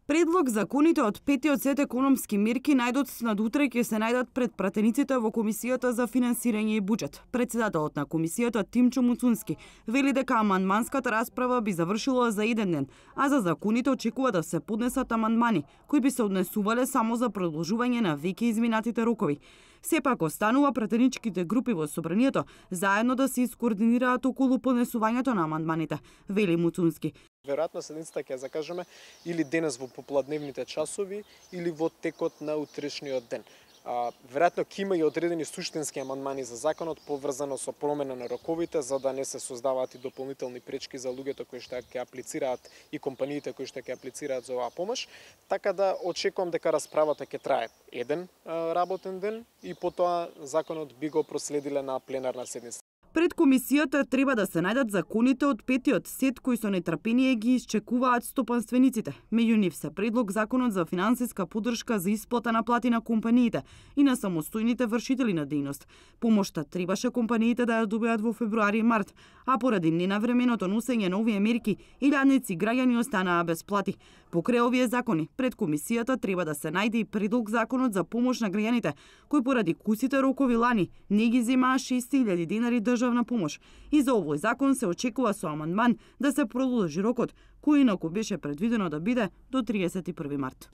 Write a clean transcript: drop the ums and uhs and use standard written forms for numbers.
Предлог законите од петиот сет економски мерки најдот надутре ќе се најдат пред пратениците во Комисијата за финансирање и буџет. Председателот на комисијата Тимчо Муцунски вели дека амандманската расправа би завршила за еден ден, а за законите очекува да се поднесат амандмани кои би се однесувале само за продолжување на веќе изминатите рокови. Сепак останува пратеничките групи во собранието заедно да се искоординираат околу поднесувањето на амандманите, вели Муцунски. Веројатно седницата ќе закажеме или денес во попладневните часови или во текот на утрешниот ден. Веројатно ќе има и одредени суштински амандмани за законот поврзано со промена на роковите за да не се создаваат и дополнителни пречки за луѓето кои што ќе аплицираат и компаниите кои што ќе аплицираат за оваа помош, така да очекувам дека расправата ќе трае еден работен ден и потоа законот би го проследиле на пленарна седница. Пред комисијата треба да се најдат законите од петиот сет кои со нетрпение ги исчекуваат стопанствениците. Меѓу нив се предлог законот за финансиска поддршка за исплата на плати на компаниите и на самостојните вршители на дејност. Помошта требаше компаниите да ја добијат во февруари и март, а поради ненавременото носење на овие мерки, илјадници граѓани останаа без плати. Покрај овие закони, пред комисијата треба да се најде и предлог законот за помош на граѓаните, кои поради кусите рокови лани не ги земаа 6.000 денари државна помош. И за овој закон се очекува со амандман да се продолжи рокот, кој инаку беше предвидено да биде до 31 март.